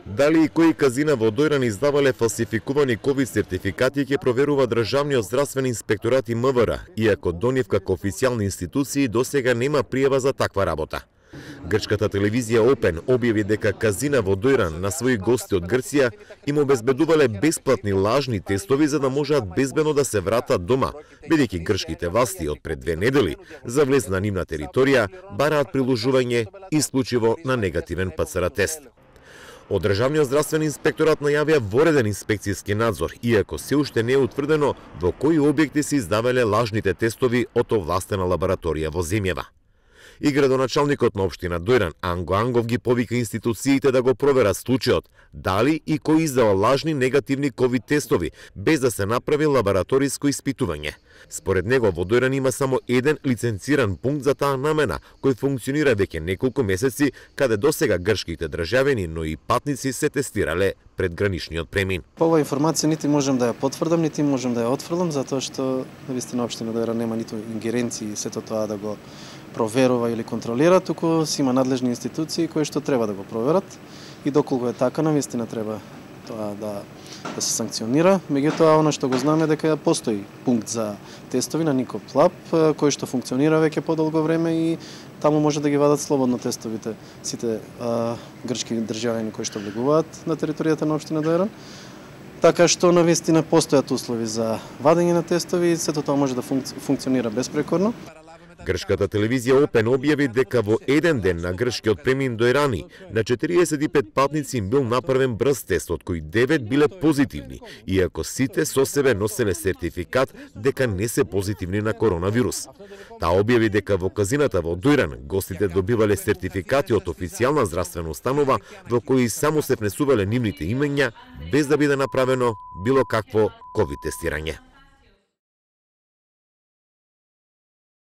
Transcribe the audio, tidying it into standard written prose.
Дали и кои казина во Дојран издавале фалсификувани ковид сертификати ќе проверува Државниот здравствен инспекторат и МВР, иако до нив како официјални институции досега нема пријава за таква работа. Грчката телевизија Опен објави дека казина во Дојран на своји гости од Грција им обезбедувале бесплатни лажни тестови за да можат безбедно да се вратат дома, бидејќи грчките власти од пред 2 недели за влез на нивна територија бараат приложување исклучиво на негативен ПЦР тест. Од Државниот здравствен инспекторат најавија вореден инспекцијски надзор, иако се уште не е утврдено во кои објекти се издавале лажните тестови од овластена лабораторија во земјава. И градоначалникот на општина Дојран Анго Ангов ги повика институциите да го проверат случајот, дали и кој издава лажни негативни ковид тестови, без да се направи лабораториско испитување. Според него во Дојран има само еден лиценциран пункт за таа намена, кој функционира веќе неколку месеци, каде досега грчките државјани, но и патници се тестирале пред граничниот премин. По оваа информација нити можам да ја потврдам, нити можам да ја отфрлам, затоа што навистина општина Дојран нема ниту ингеренции сето тоа да го проверува или контролира, туку си има надлежни институции кои што треба да го проверат и доколку е така, навистина треба тоа да се санкционира. Меѓутоа, она што го знаме дека постои пункт за тестови на Никоп Лаб, кој што функционира веќе подолго време и таму може да ги вадат слободно тестовите сите грчки државјани кои што влегуваат на територијата на општина Дојран. Така што навистина постојат услови за вадење на тестови и сето тоа може да функционира безпрекорно. Грчката телевизија Опен објави дека во еден ден на грчкиот премин до Ирани на 45 патници им бил направен брз тест, од кои 9 биле позитивни, иако сите со себе носеле сертификат дека не се позитивни на коронавирус. Таа објави дека во казината во Дојран гостите добивале сертификати од официјална здравствена установа во кои само се внесувале нивните имења без да биде направено било какво ковид тестирање.